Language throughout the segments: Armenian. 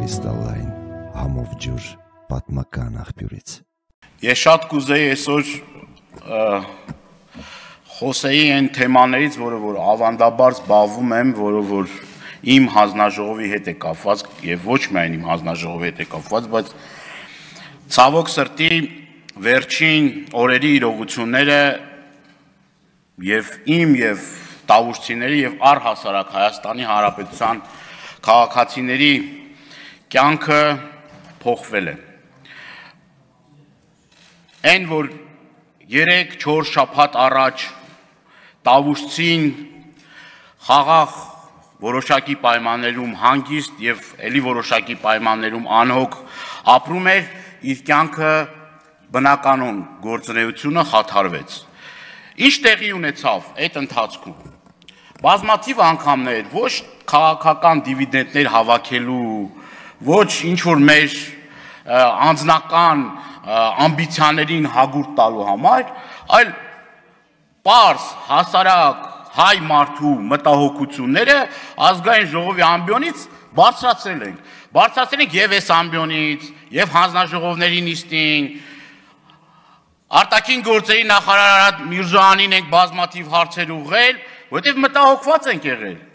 կրիստալային համով ջուր պատմական աղբյուրից։ Ես շատ կուզեի այսօր խոսեի այն թեմաներից, որը որ ավանդաբար զբաղվում եմ, որը որ իմ հանձնաժողովի հետ է կապված եւ ոչ միայն իմ հանձնաժողովի հետ է կապված, բայց ցավոք սրտի վերջին օրերի իրողությունները եւ իմ եւ տավուշցիների եւ առհասարակ Հայաստանի Հանրապետության քաղաքացիների կյանքը փոխվել է։ Այն որ 3-4 շաբաթ առաջ տավուշցին խաղաղ որոշակի պայմաններում հանգիստ եւ ելի որոշակի պայմաններում անհոգ ապրում էր, իր կյանքը բնականon գործունեությունը խաթարվեց։ Ինչ տեղի ունեցավ այդ ընթացքում։ Բազմաթիվ անգամներ ոչ քաղաքական դիվիդենդներ հավաքելու, ոչ ինչ որ մեր անձնական ամբիցիաներին հագուրդ տալու համար, այլ պարզ հասարակ հայ մարդու մտահոգությունները ազգային ժողովի ամբիոնից բարձրացրել ենք եւ այս ամբիոնից, եւ հանձնաժողովների նիստին, արտաքին գործերի նախարար Արադ Միրզոյանին ենք բազմաթիվ հարցեր ուղղել, որովհետեւ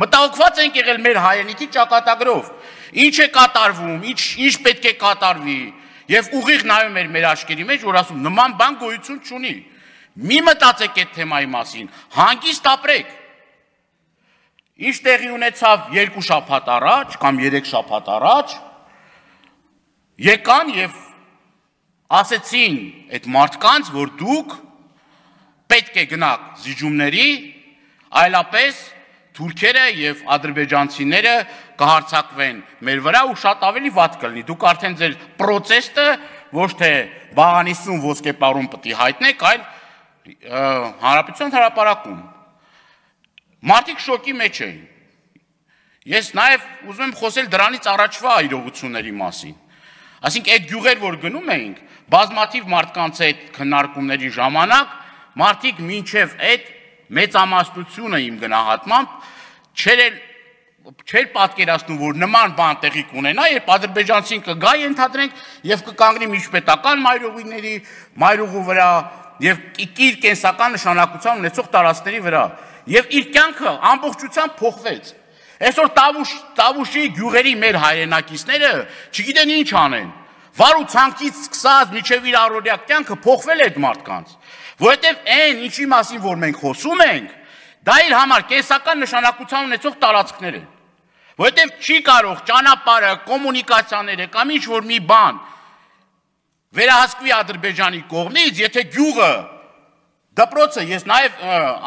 մտահոգված ենք եղել մեր հայրենիքի ճակատագրով, ինչ է կատարվում, ինչ պետք է կատարվի, եւ ուղիղ նայում էր մեր աչքերի մեջ, որ ասում նման բան գոյություն չունի։ Մի մտածեք այդ թեմայի մասին, հանգիստ ապրեք։ Ինչ տեղի ունեցավ 2 շաբաթ առաջ կամ 3 շաբաթ առաջ, եկան եւ ասեցին այդ մարդկանց, որ դուք պետք է գնաք զիջումների, այլապես թուրքերը եւ ադրբեջանցիները կհարձակվեն մեր վրա ու շատ ավելի վատ կլինի։ Դուք արդեն ձեր պրոցեսը ոչ թե բաղանիսում ոսկեպարում պետք է հայտնեք, այլ հանրապետության հրապարակում։ Մարդիկ շոկի մեջ էին։ Ես նաև ուզում եմ խոսել դրանից առաջվա իրողությունների մասին։ Այսինքն այդ գյուղեր, որ գնում էինք, բազմաթիվ մարդկանց այդ քննարկումների ժամանակ մարդիկ մինչև այդ մեծամասնությունը իմ գնահատմամբ չէր պատկերացնում, որ նման բան տեղի կունենա, երբ ադրբեջանցին կգա ենթադրենք եւ կկանգնի միջպետական մայրուղու վրա եւ իր կենսական նշանակության ունեցող տարածքների վրա եւ իր կյանքը ամբողջությամբ փոխվեց։ Այսօր Տավուշի գյուղերի մեր հայրենակիցները չգիտեն ինչ անեն։ Վար ու ցանկից սկսած մինչև իր առօրյա կյանքը փոխվել է այդ մարդկանց, որովհետեւ այն ինչի մասին որ մենք խոսում ենք, դա իր համար կենսական նշանակության ունեցող տարածքներ են։ Որովհետեւ չի կարող ճանապարհը, կոմունիկացիաները կամ ինչ որ մի բան վերահսկվի Ադրբեջանի կողմից, եթե գյուղը դպրոցը, ես նաև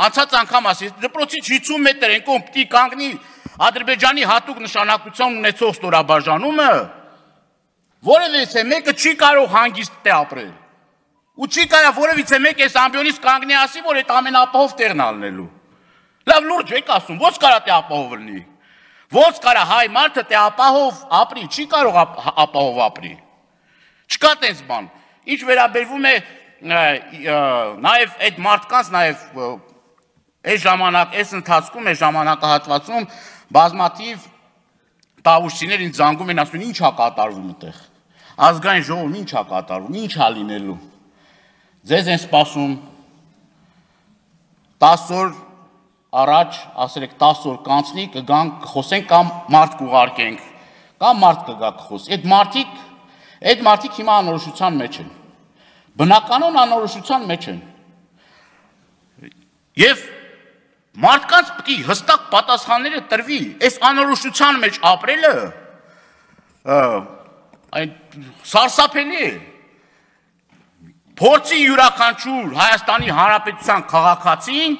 անցած անգամ ասի, դպրոցից 50 մետր են կողմ պիտի կանգնի Ադրբեջանի հատուկ նշանակության ունեցող ստորաբաժանումը, որևիցե մեկը չի կարող հանգիստ ապրել։ Ու չի կարող որևիցե մեկ այս ամբիոնից կանգնի ասի, որ այդ ամենապահով տեղն ալնելու։ Լավ լուրջ եք ասում, ո՞նց կարա թե ապահով լինի։ Ո՞նց կարա հայ մարդը թե ապահով ապրի, չի կարող ապահով ապրի։ Չկա տես բան։ Ինչ վերաբերվում է նաև այդ մարդկանց, նաև այս ժամանակ, այս ընթացքում, այս ժամանակահատվածում բազմաթիվ տավուշցիներ ինձ զանգում են, ասում են ինչ է կատարվում այդտեղ։ Ազգային ժողովում ինչ է կատարվում, ինչ է լինելու։ Ձեզ են սպասում 10 օր առաջ, ասել եք 10 օր կանցնի, կգանք, խոսենք կամ մարդ կուղարկենք, կամ մարդ կգա կխոսի։ Այդ մարդիկ հիմա անորոշության մեջ են։ Բնականon անորոշության մեջ են։ Եվ մարդկանց պետք է հստակ պատասխանները տրվի։ Այս անորոշության մեջ ապրելը սարսափելի է։ Փորձի յուրաքանչյուր Հայաստանի Հանրապետության քաղաքացին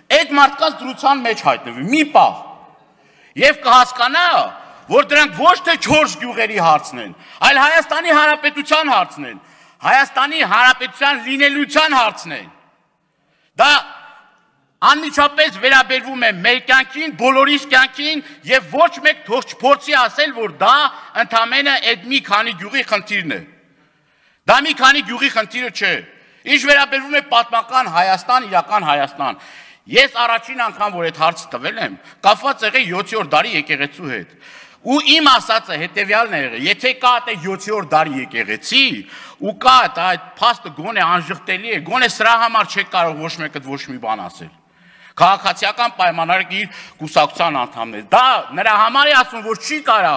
այդ մարդկանց դրության մեջ հայտնվի մի պահ եւ կհասկանա, որ դրանք ոչ թե 4 գյուղերի հարցն են, այլ Հայաստանի Հանրապետության հարցն են, Հայաստանի Հանրապետության լինելիության հարցն են։ Դա անմիջապես վերաբերվում է մեր կյանքին, բոլորիս կյանքին եւ ոչ մեկ թող չփորձի ասել, որ դա ընդամենը այդ մի քանի գյուղի խնդիրն է։ Դա մի քանի գյուղի խնդիրը չէ։ Ինչ վերաբերվում է պատմական Հայաստան, իրական Հայաստան, Ես առաջին անգամ որ այդ հարցը տվել եմ, կապված եղել 7-րդ դարի եկեղեցու հետ։ Ու իմ ասածը հետևյալն է եղել, եթե կա այդ 7-րդ դարի եկեղեցի, ու կա այդ փաստը գոնե անժխտելի է, գոնե սրա համար չեք կարող ոչ մեկը ոչ մի բան ասել։ Քաղաքացիական պայմանները իր կուսակցության անդամներ։ Դա նրա համար է ասում, որ չի կարա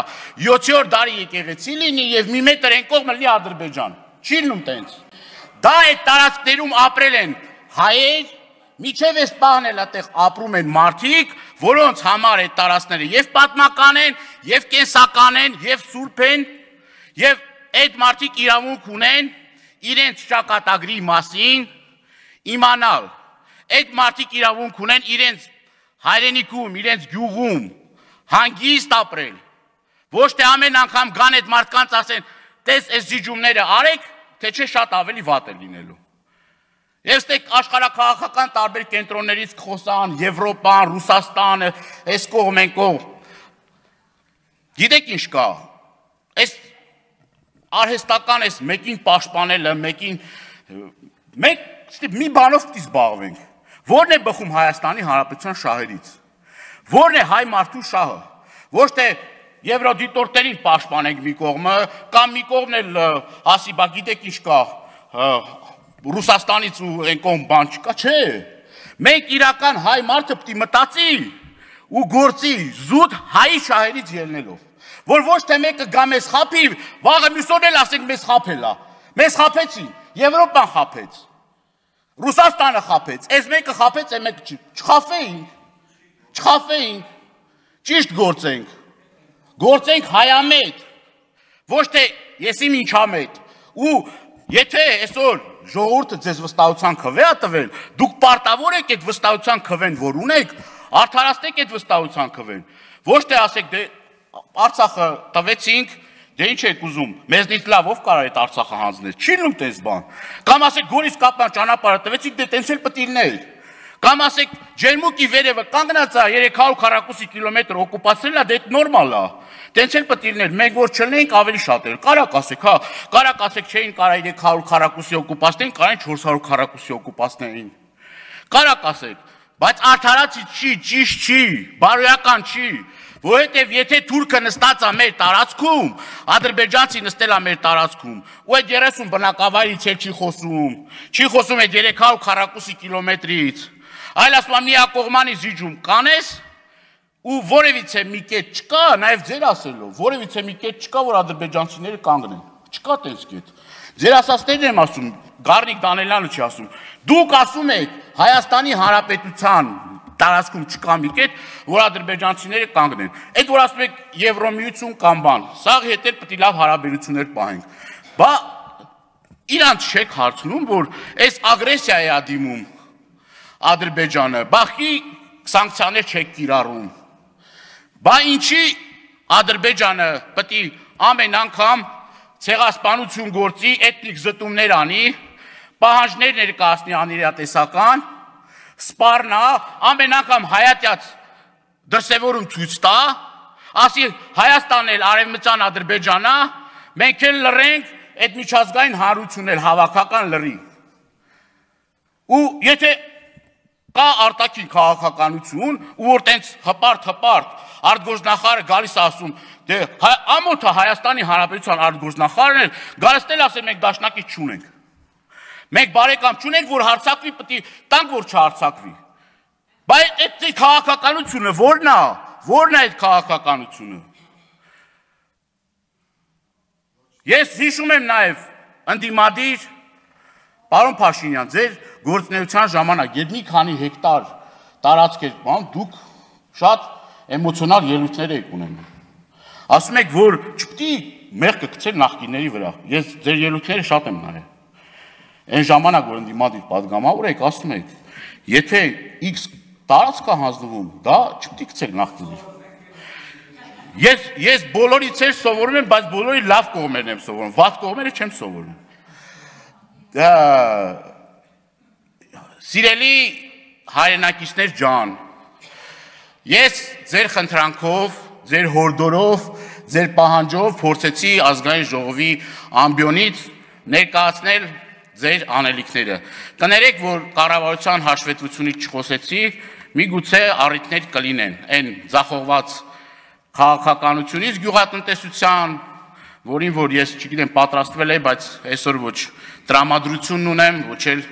7-րդ դարի եկեղեցի լինի եւ մի մետր այն կողմը լինի Ադրբեջան։ Չի լինում տենց։ Դա այդ տարածքներում ապրել են հայեր, միջև այս պահն էլ այդտեղ ապրում են մարդիկ, որոնց համար այդ տարածքները եւ պատմական են, եւ կենսական են, եւ սուրբ են, եւ այդ մարդիկ իրավունք ունեն իրենց ճակատագրի մասին իմանալ։ Այդ մարդիկ իրավունք ունեն իրենց հայրենիքում, իրենց գյուղում հանգիստ ապրել։ Ոչ թե ամեն անգամ գան այդ մարդկանց ասեն, տես այս զիջումները արեք, թե չէ շատ ավելի վատ է լինելու։ Ես դեք աշխարհաքաղաքական տարբեր կենտրոններից խոսան, Եվրոպան, Ռուսաստանը, այս կողմ են կողմ։ Գիտեք ինչ կա։ Այս արհեստական այս մեկին պաշտպանելը, մենք մի բանով պիտի զբաղվենք։ Որն է բխում Հայաստանի Հանրապետության շահերից։ Որն է հայ մարդու շահը։ Ոչ թե եվրոդիտորտերին պաշտպանենք մի կողմը, կամ մի կողմն էլ ասի, բա գիտեք ինչ կա, Ռուսաստանից ու այն կողմ բան չկա, չէ։ Մենք իրական հայ մարդը պիտի մտածի ու գործի զուտ հայի շահերից ելնելով։ Որ ոչ թե մեկը գա մեզ խափի, վաղը մյուսոն էլ ասենք մեզ խափել է։ Մեզ խափեցին, Եվրոպան խափեց, Ռուսաստանը խափեց, այս մեկը խափեց, այն մեկը չխափեինք, ճիշտ գործենք հայամետ, ոչ թե եսիմ ինչամետ, ու եթե այսօր ժողովուրդը ձեզ վստահության քվե է տվել, դուք պարտավոր եք այդ վստահության քվեն, որ ունեք, արդարացնեք այդ վստահության քվեն, ոչ թե ասեք, դե Արցախը տվեցինք, դե ինչ եք ուզում, մեզնից լավ ով կարող է այդ Արցախը հանձնել, չի լինում տես բան, կամ ասեք Գորիս Կապլան ճանապարհը տվեցիք, դե տենց էլ պետք է լիներ, կամ ասեք Ջերմուկի վերևը կանգնած է 300 կիլոմետր օկուպացրել է, դե դա նորմալ է, տենց էլ պետք է լիներ, մենք որ չլինենք ավելի շատ էր, կարակ ասեք, հա, կարակ ասեք չէին կարա 300 օկուպացնեին, կարան 400 օկուպացնեին, կարակ ասեք, բայց արդարացի չի, ճիշտ չի, բարոյական չի, որովհետև եթե թուրքը նստած է մեր տարածքում, ադրբեջանցի նստել է մեր տարածքում, ու այդ 30 բնակավայրից էլ չի խոսում այդ 300 կիլոմետրից, այլ ասում է միակողմանի զիջում կանես, ու որևիցե մի կետ չկա, նաև ձեր ասելով, որևիցե մի կետ չկա, որ ադրբեջանցիները կանգնեն, չկա տենց կետ, ձեր ասածներն եմ ասում, Գառնիկ Դանելյանը չի ասում, դուք ասում եք Հայաստանի Հանրապետության տարածքում չկա մի կետ, որ ադրբեջանցիները կանգնեն, այդ որ ասում եք Եվրոմիություն կամ բան, սաղ հետ էլ պետք է լավ հարաբերություններ պահենք, բա իրանց չեք հարցնում, որ այս ագրեսիա է դիմում Ադրբեջանը, բախի սանկցիաներ չեք կիրառում, բա ինչի Ադրբեջանը պետք է ամեն անգամ ցեղասպանություն գործի, էթնիկ զտումներ անի, պահանջներ ներկայացնի անիրատեսական, սպառնա, ամեն անգամ հայատյաց դրսևորում ցույց տա, ասի Հայաստանն էլ Արևմտյան Ադրբեջանա, մենք էլ լռենք, այդ միջազգային հանրությունն էլ հավաքական լռի։ Ու եթե կա արտաքին քաղաքականություն, ու որ տենց հպարտ արտգործնախարարը գալիս ասում, դե ամոթը Հայաստանի Հանրապետության արտգործնախարարն էլ գալիս էլ ասել մենք դաշնակից չունենք։ Մենք բարեկամ չունենք, որ հարցակվի, պետք է տանք, որ չհարցակվի։ Բայց այդ քաղաքականությունը ո՞րն է, ո՞րն է այդ քաղաքականությունը։ Ես հիշում եմ նաև ընդդիմադիր պարոն Փաշինյան, ձեր գործունեության ժամանակ, երբ մի քանի հեկտար տարածք էր, դուք շատ էմոցիոնալ ելույթներ եք ունենում։ Ասում եք, որ չպետք է մեղքը գցել նախկինների վրա։ Ես ձեր ելույթները շատ եմ նայել։ Այն ժամանակ, որ ընդդիմադիր պատգամավոր եք, ասում եք, եթե X տարածք է հանձնվում, դա չպետք է գցել նախկինի։ Ես բոլորից էլ սովորում եմ, բայց բոլորի լավ կողմերն եմ սովորում, վատ կողմերը չեմ սովորում։ Սիրելի հայրենակիցներ ջան, ես ձեր խնդրանքով, ձեր հորդորով, ձեր պահանջով փորձեցի ազգային ժողովի ամբիոնից ներկայացնել ձեր անելիքները։ Կներեք, որ կառավարության հաշվետվությունից չխոսեցի, միգուցե առիթներ կլինեն, այն ձախողված քաղաքականությունից գյուղատնտեսության, որին որ ես չգիտեմ պատրաստվել եմ, բայց այսօր ոչ տրամադրությունն ունեմ, ոչ էլ